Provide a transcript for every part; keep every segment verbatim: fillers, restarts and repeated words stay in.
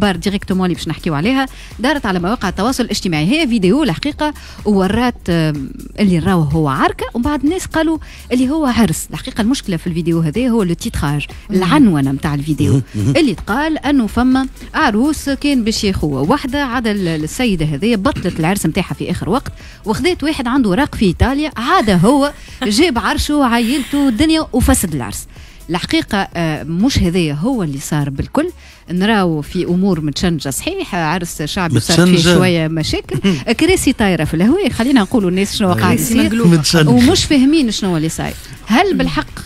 الاخبار directement اللي باش نحكيو عليها دارت على مواقع التواصل الاجتماعي. هي فيديو الحقيقة وورات اللي راهو هو عركه، ومن بعد الناس قالوا اللي هو عرس. الحقيقة المشكلة في الفيديو هذا هو le titrage، العنونه نتاع الفيديو اللي تقال انه فما عروس كان باش ياخوها واحده، عاد السيدة هذه بطلت العرس نتاعها في اخر وقت وخذت واحد عنده وراق في ايطاليا، عاد هو جاب عرشه وعائلته الدنيا وفسد العرس. الحقيقة مش هذايا هو اللي صار بالكل، نراو في أمور متشنجة. صحيح عرس شعبي صار فيه شوية مشاكل، كراسي طايرة في الهواء، خلينا نقولوا الناس شنو قاعد يصير ومش فاهمين شنو اللي صاير. هل بالحق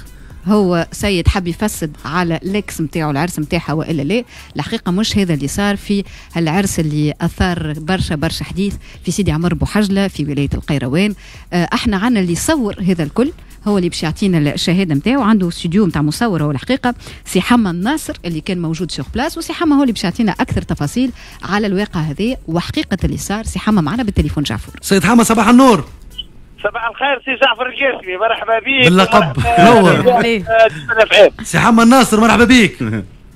هو سيد حب يفسد على l'ex نتاعو العرس نتاعها والا لا؟ الحقيقة مش هذا اللي صار في العرس اللي اثار برشا برشا حديث في سيدي عمر بوحجله في ولاية القيروان. احنا عنا اللي صور هذا الكل، هو اللي باش يعطينا الشهادة نتاعو، عنده استوديو نتاع مصور هو الحقيقة سي حما الناصر اللي كان موجود sur place، وسي حما هو اللي باش يعطينا اكثر تفاصيل على الواقع هذا وحقيقة اللي صار. سي حما معنا بالتليفون. جعفر. سيد حما صباح النور. صباح الخير سي جعفر القاسمي، مرحبا بك. باللقب نور. سي حما الناصر مرحبا بك.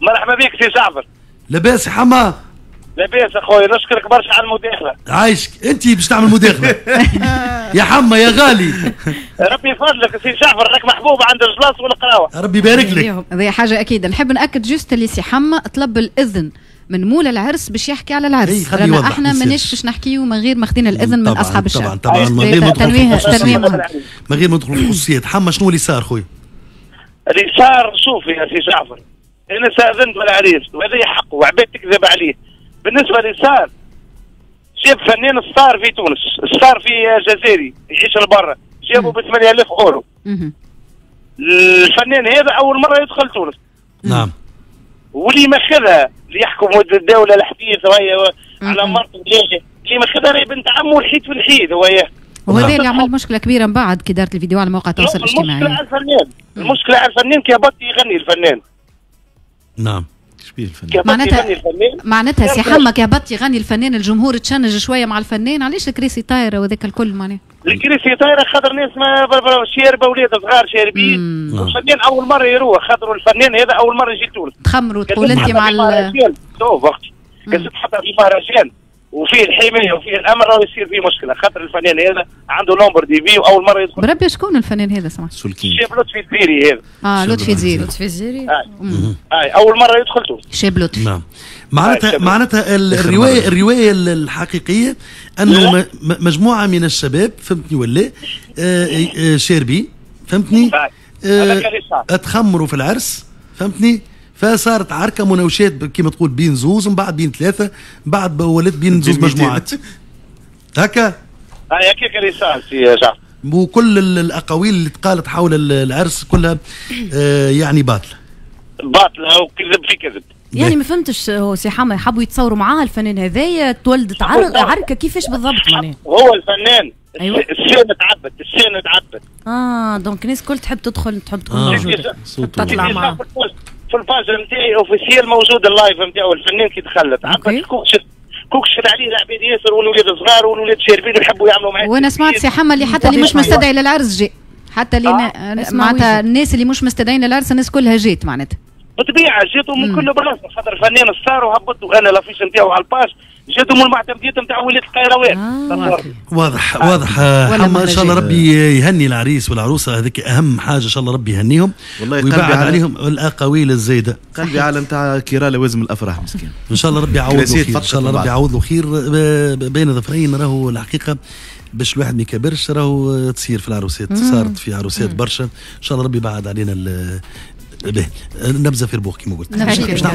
مرحبا بك سي جعفر. لاباس سي حما؟ لاباس اخويا، نشكرك برشا على المداخلة. عايشك، انت باش تعمل مداخله. يا حما يا غالي. ربي يفضلك سي جعفر، راك محبوب عند الجلاس والقراوه. ربي يبارك لك. هذه حاجة اكيد. نحب ناكد juste اللي سي حما طلب الاذن من مولى العرس باش يحكي على العرس، رانا احنا ماناش باش نحكيو من غير ما خدينا الاذن من اصحاب الشعب. طبعا طبعا من غير ما ندخل من غير ما ندخل في الخصوصيات. حما شنو اللي صار خويا؟ اللي صار شوف يا سي جعفر، انا استاذنت من العريس وهذا حقه وعباد تكذب عليه. بالنسبة اللي صار، جاب فنان star في تونس، star في جزائري يعيش لبرا، جابه ب ثمانية آلاف اورو. الفنان هذا اول مرة يدخل تونس. نعم. واللي ماخذها اللي يحكم الدولة الحديث وهي على مرته اللي ماخذها راهي بنت عمه الحيط في الحيط وهي. وهذا اللي عمل مشكلة كبيرة من بعد كي دارت الفيديو على مواقع التواصل الاجتماعي. المشكلة على الفنان، المشكلة على الفنان كي هبط يغني الفنان. نعم. شبيه الفنان؟ معناتها معناتها سي حما كي هبط يغني الفنان الجمهور تشنج شوية مع الفنان، علاش الكراسي طايره وذاك الكل معناها؟ الكراسي طايره خاطر ناس ما شاربه، ولاد صغار شاربين، الفنان اول مرة يروح، خاطر الفنان هذا اول مرة يجي تونس. تخمروا تقول انت مع ال شوف وقتي كنت تحطها في مهرجان وفيه الحماية وفيه الامر راه يصير فيه مشكلة، خاطر الفنان هذا عنده nombre de vie واول مرة يدخل. بربي شكون الفنان هذا سمعت؟ سولكين. شاب لطفي الزيري هذا. اه لطفي الزيري. لطفي الزيري. آه. اول مرة يدخل تونس. شاب لطفي. نعم. معناتها معناتها الرواية الرواية الحقيقية انه مجموعة من الشباب فهمتني ولا آه شاربين فهمتني؟ آه تخمروا في العرس فهمتني؟ فصارت عركة مناوشات كما تقول بين زوز ومن بعد بين ثلاثة من بعد ولات بين زوز مجموعات هكا. هاي هكاك اللي صار سي جعفر. وكل الاقاويل اللي تقالت حول العرس كلها آه يعني باطله. باطله وكذب في كذب. يعني ما فهمتش هو سي حما يحبوا يتصوروا معاه الفنان هذايا تولدت عركة كيفاش بالضبط معناها؟ هو الفنان أيوة. ال scène تعبت، ال scène تعبت. اه donc الناس الكل تحب تدخل تحب تكون آه. موجودة تطلع معاه. في ال page نتاعي officielle موجود ال live نتاعو الفنان كي دخل تعبت كوكشت كوكشت عليه العباد ياسر والولاد صغار والولاد شاربين ويحبوا يعملوا معاه. وانا سمعت سي حما اللي حتى اللي مش مستدعي للعرس جاء، حتى اللي آه. معناتها الناس اللي مش مستدعين للعرس الناس كلها جات معناتها. بالطبيعة جاتوا من كل بلاصة خاطر الفنان star وهبطوا انا l'affiche نتاعو على ال page، جاتوا من المعتمديات نتاع ولاية القيروان. آه. واضح واضح حما، ان شاء الله ربي يهني العريس والعروسه، هذيك اهم حاجة، ان شاء الله ربي يهنيهم ويبعد عليهم الاقاويل الزايدة. قلبي على نتاع كيرا لوازم الافراح مسكين. ان شاء الله ربي يعوض له خير، ان شاء الله ربي يعوض له خير بين ظفرين. راهو الحقيقة باش الواحد ما يكبرش راهو تصير في العروسات، صارت في عروسات برشا، ان شاء الله ربي يبعد علينا به نبذه في ربوخ كما قلت. باش نعملوا